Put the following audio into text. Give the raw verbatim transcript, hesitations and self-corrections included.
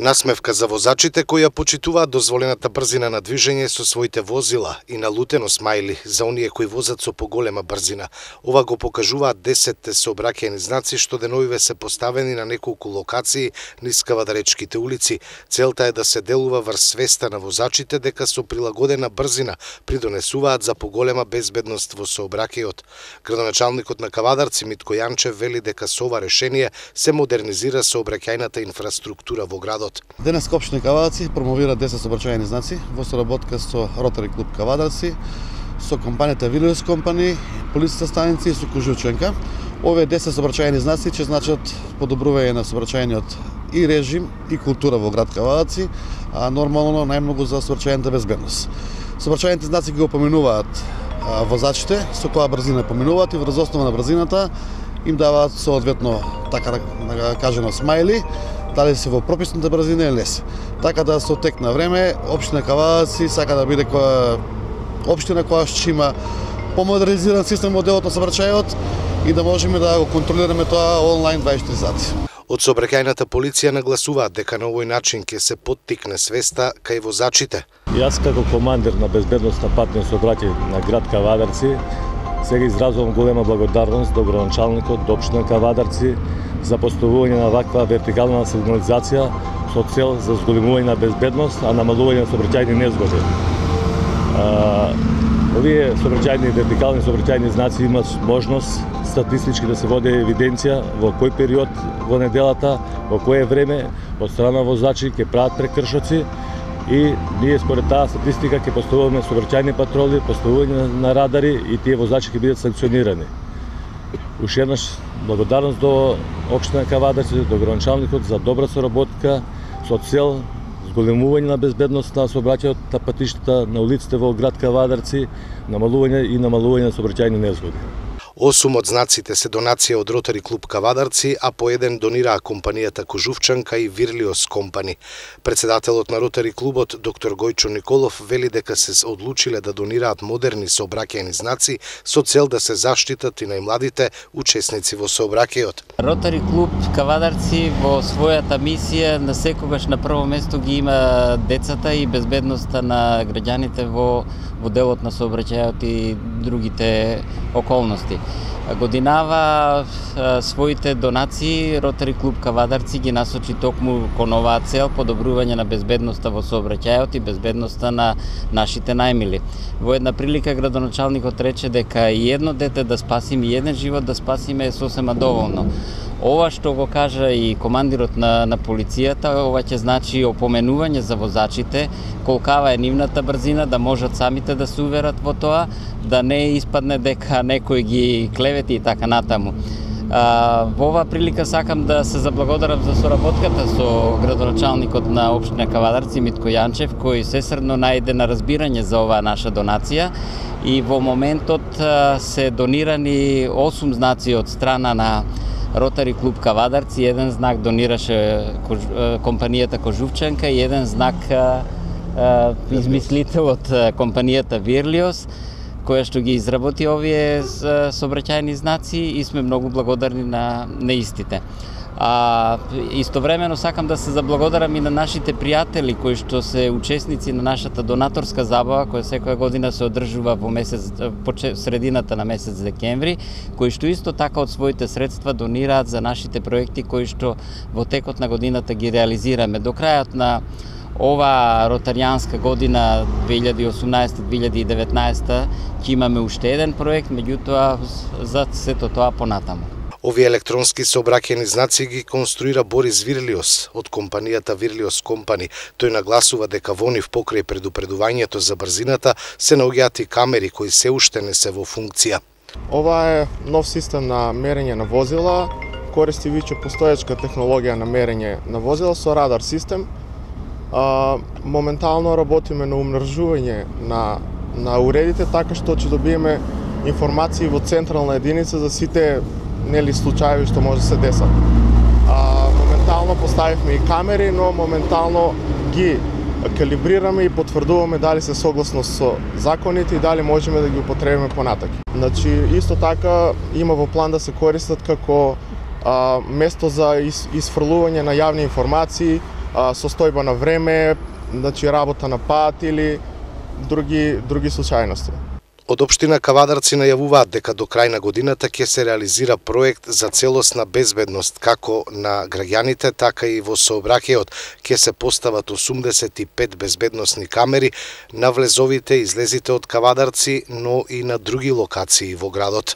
Насмевка за возачите кои ја почитуваат дозволената брзина на движење со своите возила и налутено смајли за оние кои возат со поголема брзина. Ова го покажуваат десетте сообраќајни знаци што деновиве се поставени на неколку локации низ Кавадаречките улици. Целта е да се делува врз свеста на возачите дека со прилагодена брзина придонесуваат за поголема безбедност во сообраќајот. Градоначалникот на Кавадарци Митко Јанчев вели дека со ова решение се модернизира сообраќајната инфраструктура во градот. Денес општина Кавадарци промовира десет сообраќајни знаци во соработка со Ротари клуб Кавадарци, со компанијата Вирлиос компани, полициска станици и со Кожувченка. Овие десет сообраќајни знаци ќе значат подобрување на сообраќајниот и режим и култура во град Кавадарци, а нормално најмногу за сообраќајната безбедност. Сообраќајните знаци ги опоменуваат возачите со која брзина поминуваат и врз основа на брзината им даваат соодветно, така да кажено, смајли, дали се во прописната брзина или не се. Така да со тек на време општина Кавадарци сака да биде која општина која ќе има помодернизиран систем во делот на сообраќајот и да можеме да го контролираме тоа онлайн дваесет и четири сати. Од сообраќајната полиција нагласуваат дека на овој начин ќе се поттикне свеста кај возачите. Јас како командир на безбедност на патно сообраќај на град Кавадарци сега изразувам голема благодарност до градоначалникот, до општина Кавадарци за поставување на ваква вертикална сигнализација со цел за зголемување на безбедност, а намалување на сообраќајни незгоди. А, овие сообраќајни вертикални сообраќајни знаци имат можност статистички да се води евиденција во кој период во неделата, во кое време од страна возачи ќе прават прекршоци и ние според таа статистика ќе поставуваме сообраќајни патроли, поставување на радари и тие возачи ќе бидат санкционирани. Уште еднаш благодарност до општина Кавадарци, до градоначалникот за добра соработка со цел зголемување на безбедност на сообраќајот на патиштата на улиците во град Кавадарци, намалување и намалување на сообраќајни незгоди. Осум од знаците се донација од Ротари клуб Кавадарци, а по еден донираа компанијата Кожувченка и Вирлиос компани. Председателот на Ротари клубот, доктор Гојчо Николов, вели дека се одлучиле да донираат модерни сообраќајни знаци со цел да се заштитат и најмладите учесници во сообраќајот. Ротари клуб Кавадарци во својата мисија на секогаш на прво место ги има децата и безбедноста на граѓаните во во делот на сообраќајот и другите околности. Годинава своите донации Ротари клуб Кавадарци ги насочи токму кон оваа цел, подобрување на безбедноста во сообраќајот и безбедноста на нашите најмили. Во една прилика градоначалникот рече дека и едно дете да спасиме, и еден живот да спасиме е сосема доволно. Ова што го кажа и командирот на, на полицијата, ова ќе значи опоменување за возачите, колкава е нивната брзина, да можат самите да се уверат во тоа, да не испадне дека некој ги клевети и така натаму. А, во оваа прилика сакам да се заблагодарам за соработката со градоначалникот на општина Кавадарци Митко Јанчев, кој сесрдно најде на разбирање за оваа наша донација и во моментот а, се донирани осум знаци од страна на Ротари клуб Кавадарци, еден знак донираше компанијата Кожувченка и еден знак а, а, измислител од компанијата Вирлиос, која што ги изработи овие сообраќајни знаци и сме многу благодарни на, на истите. А истовремено сакам да се заблагодарам и на нашите пријатели кои што се учесници на нашата донаторска забава која секоја година се одржува во месец по средината на месец декември, кои што исто така од своите средства донираат за нашите проекти кои што во текот на годината ги реализираме. До крајот на ова ротаријанска година две илјади и осумнаесета две илјади и деветнаесета ќе имаме уште еден проект, меѓутоа за сето тоа понатаму. Овие електронски сообраќајни знаци ги конструира Борис Вирлиос од компанијата Вирлиос компани. Тој нагласува дека во нив покрај предупредувањето за брзината се наоѓаат и камери кои се уште не се во функција. Ова е нов систем на мерење на возила, користи веќе постоечка технологија на мерење на возила со радар систем. А, моментално работиме на умножување на на уредите така што ќе добиеме информации во централна единица за сите нели случаи што може да се десат. А, моментално поставивме и камери, но моментално ги калибрираме и потврдуваме дали се согласно со законите и дали можеме да ги употребиме понатаки. Значи исто така има во план да се користат како а, место за из, изфрлување на јавни информации а, состојба на време, значи работа на пат или други други случајности. Од општина Кавадарци најавуваат дека до крај на годината ќе се реализира проект за целосна безбедност како на граѓаните, така и во сообраќајот ќе се постават осумдесет и пет безбедносни камери на влезовите и излезите од Кавадарци, но и на други локации во градот.